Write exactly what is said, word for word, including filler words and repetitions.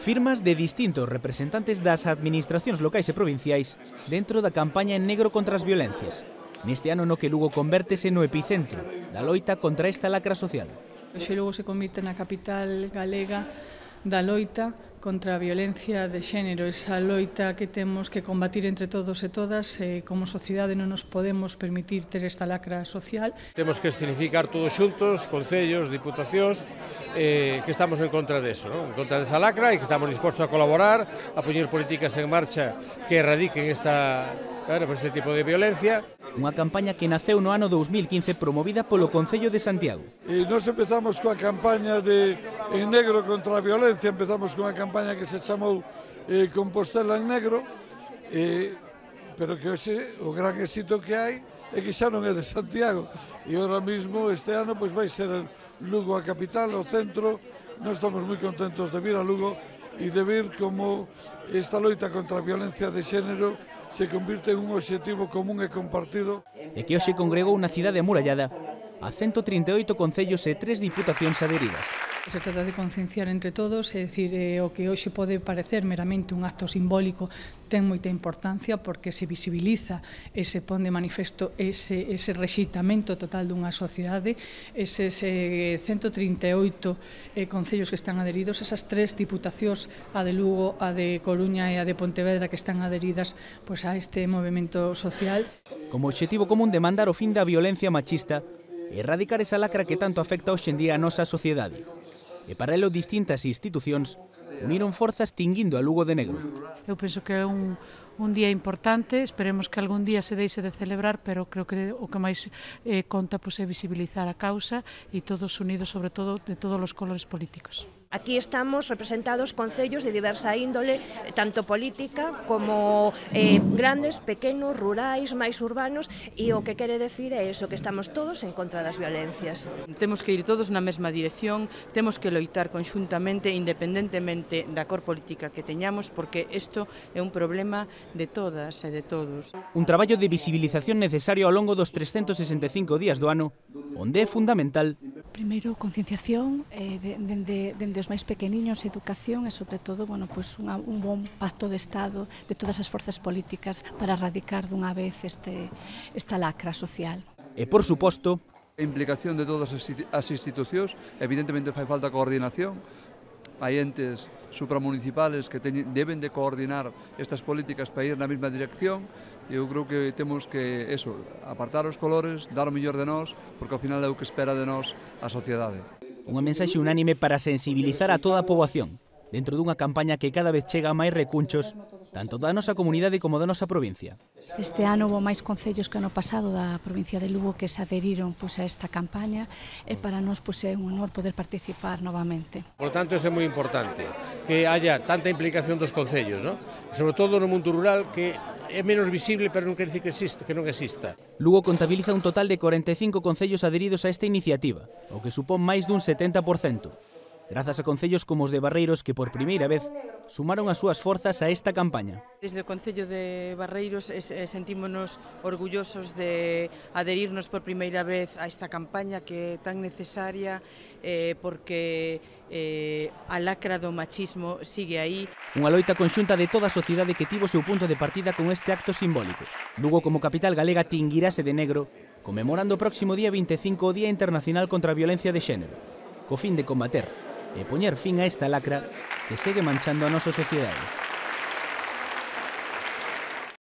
Firmas de distintos representantes das administracións locais e provinciais dentro da campaña en negro contra as violencias. Neste ano no que Lugo convértese no epicentro da loita contra esta lacra social. Hoxe Lugo se convirte na capital galega da loita contra a violencia de xénero, esa loita que temos que combatir entre todos e todas, e como sociedade non nos podemos permitir ter esta lacra social. Temos que escenificar todos xuntos, concellos, diputacións, eh, que estamos en contra deso, ¿no? En contra desa lacra e que estamos dispostos a colaborar, a poñer políticas en marcha que erradiquen esta, claro, pues este tipo de violencia. Unha campaña que naceu no ano dous mil quince promovida polo Concello de Santiago. E nos empezamos coa campaña de En Negro contra a Violencia, empezamos con unha campaña que se chamou eh, Compostela en Negro, eh, pero que hoxe o gran éxito que hai é que xa non é de Santiago. E ahora mismo, este ano, pois vai ser Lugo a capital, o centro. Nós estamos moi contentos de vir a Lugo e de ver como esta loita contra a violencia de xénero se convirte en un obxectivo común e compartido. E que hoxe congregou unha cidade amurallada a ciento trinta e oito concellos e tres diputacións adheridas. Se trata de concienciar entre todos, é dicir, eh, o que hoxe pode parecer meramente un acto simbólico ten moita importancia porque se visibiliza e se pon de manifesto ese, ese rexeitamento total dunha sociedade, eses eh, ciento trinta e oito eh, concellos que están adheridos, esas tres diputacións, a de Lugo, a de Coruña e a de Pontevedra, que están adheridas pois, a este movimento social. Como obxectivo común demandar o fin da violencia machista e erradicar esa lacra que tanto afecta hoxe en día a nosa sociedade. E para elo distintas institucións uniron forzas tinguindo a Lugo de negro. Eu penso que é un, un día importante, esperemos que algún día se deixe de celebrar, pero creo que o que máis eh, conta pois, é visibilizar a causa e todos unidos, sobre todo, de todos os colores políticos. Aquí estamos representados concellos de diversa índole, tanto política como eh, grandes, pequenos, rurais, máis urbanos, e o que quere decir é iso, que estamos todos en contra das violencias. Temos que ir todos na mesma dirección, temos que loitar conxuntamente, independentemente da cor política que teñamos, porque isto é un problema de todas e de todos. Un traballo de visibilización necesario ao longo dos trescentos sesenta e cinco días do ano, onde é fundamental primeiro, concienciación, eh, dende de, de, de os máis pequeniños, educación e, sobre todo, bueno, pues unha, un bon pacto de Estado de todas as forzas políticas para erradicar dunha vez este, esta lacra social. E, por suposto, a implicación de todas as institucións, evidentemente fai falta coordinación, hai entes supramunicipales que teñen, deben de coordinar estas políticas para ir na mesma dirección. Eu creo que temos que, eso, apartar os colores, dar o mellor de nós, porque ao final é o que espera de nós a sociedade. Unha mensaxe unánime para sensibilizar a toda a poboación, dentro dunha campaña que cada vez chega a máis recunchos, tanto da nosa comunidade como da nosa provincia. Este ano houve máis concellos que ano pasado da provincia de Lugo que se adheriron pois, a esta campaña, e para nós pois, é un honor poder participar novamente. Por tanto, é moi importante que haya tanta implicación dos concellos, ¿no? Sobre todo no mundo rural, que é menos visible, pero non quer dicir que, existe, que non exista. Lugo contabiliza un total de corenta e cinco concellos adheridos a esta iniciativa, o que supón máis dun setenta por cento. Grazas a concellos como os de Barreiros que por primeira vez sumaron as súas forzas a esta campaña. Desde o Concello de Barreiros sentímonos orgullosos de adherirnos por primeira vez a esta campaña que é tan necesaria eh, porque eh, a lacra do machismo sigue aí. Unha loita conxunta de toda a sociedade que tivo seu punto de partida con este acto simbólico. Lugo como capital galega tinguirase de negro, conmemorando o próximo día vinte e cinco o Día Internacional contra a Violencia de Xénero, co fin de combater e poñer fin a esta lacra que segue manchando a nosa sociedade.